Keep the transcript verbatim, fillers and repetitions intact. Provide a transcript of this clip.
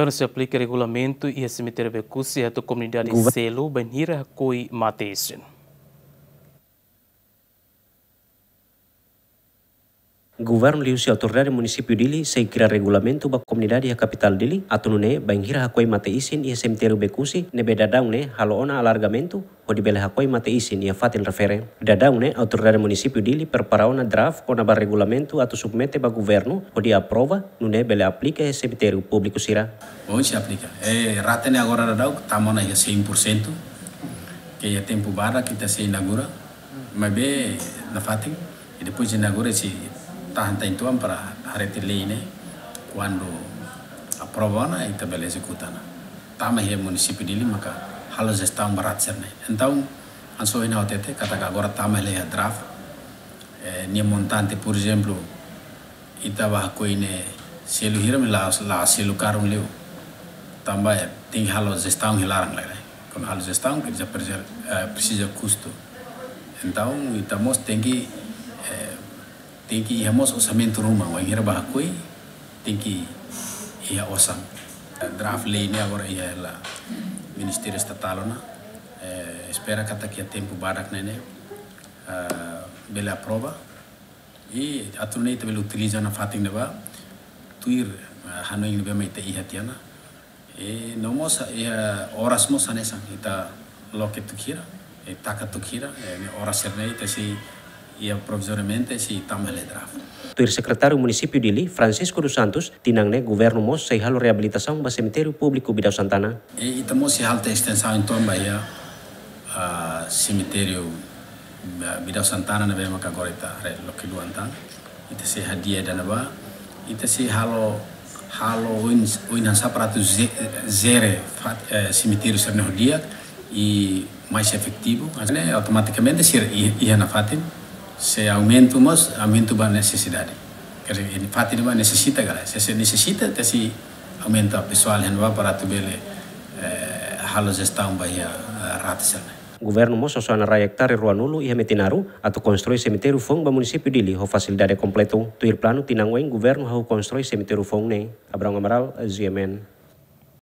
Governu sei aplika regulamentu iha semitériu Becusse atu komunidade Gover- selu bainhira hakoi mate-isin. Governu liuhusi Autoridade Munisípiu Dili sei kria regulamentu ba komunidade iha kapitál Dili, atu nune'e bainhira hakoi mate-isin iha semitériu Becusse ne'ebé daudaun ne'e halo ona alargamentu, hodi bele hakoi mate-isin iha fatin refere. Daudaun ne'e Autoridade Munisípiu Dili prepara ona draft kona-ba regulamentu atu submete ba governu hodi aprova, nune'e bele aplika iha semitériu públiku sira. Ohin sei aplika. Eh, rate ne'e agora daudaun tama ona iha cem por cento, ke iha tempu badak ita sei inaugura, maibé nafatin, i depois de inaugura sei tahan tan uitoan para haree tiha lei ne'e, kuandu aprova ona, ita bele ezekuta ona. Tama iha Munisípiu Dili maka halo jestaun ba rate sira-ne'e. Entaun, hanesan ohin ha'u hatete, katak agora tama hela iha draft, eh, nia montante, por ezemplu, ita bá hakoi ne'e selu hira, maibé la, la selu karun liu. Tanba, eh, tenke halo jestaun iha laran lai, eh. Kuandu halo jestaun, ke dezapareser, eh, presiza kustu. Entaun, ita mós tenke, eh, tenke iha mós orsamentu ruma, wainhira bá hakoi, tenke iha osan. Draft lei ne'e agora iha hela Ministériu Estatál ona, eh, espera katak iha tempu badak ne'e, eh, bele aprova. I atu nune'e ita bele utiliza nafatin ne'ebá, tuir, eh, hanoin ne'ebé mak ita iha tiha ona. I no mós, eh, oras mós hanesan, ita loke tuku hira, eh, taka tuku hira, eh, ne'e oras sira-ne'e ita sei, iha provizoriamente sei tama hela draft. Tuir Sekretáriu Munisípiu Dili, Francisco dos Santos, tinan ne'e governu mós sei halo reabilitasaun ba semitériu públiku Bidau Santana. I ita mós sei halo tan estensaun uitoan ba iha, ah, semitériu, ah, Bidau Santana ne'ebé maka agora ita haree loke duan tan. Ita sei hadi'a ida-ne'ebá, ita sei halo, halo oin, oin hanesan para atu ze-, jere fat-, eh, semitériu sira-ne'e ho di'ak i mais efetivu. Ne'e automatikamente sira i-, iha nafatin, sei aumenta mós, aumenta ba nesesidade. Quer dizer, iha fatin ne'ebá nesesita ka lae. Se, se nesesita, ita sei aumenta pesoál iha ne'ebá para atu bele, eh, halo jestaun ba iha, eh, rate sira-ne'e. Governu mós sosona rai ektare ruanulu iha Metinaro atu konstrui semitériu foun ba Munisípiu Dili ho fasilidade kompletu. Tuir planu tinan oin governu hahú konstrui semitériu foun ne'e. Abrão Amaral, G M N.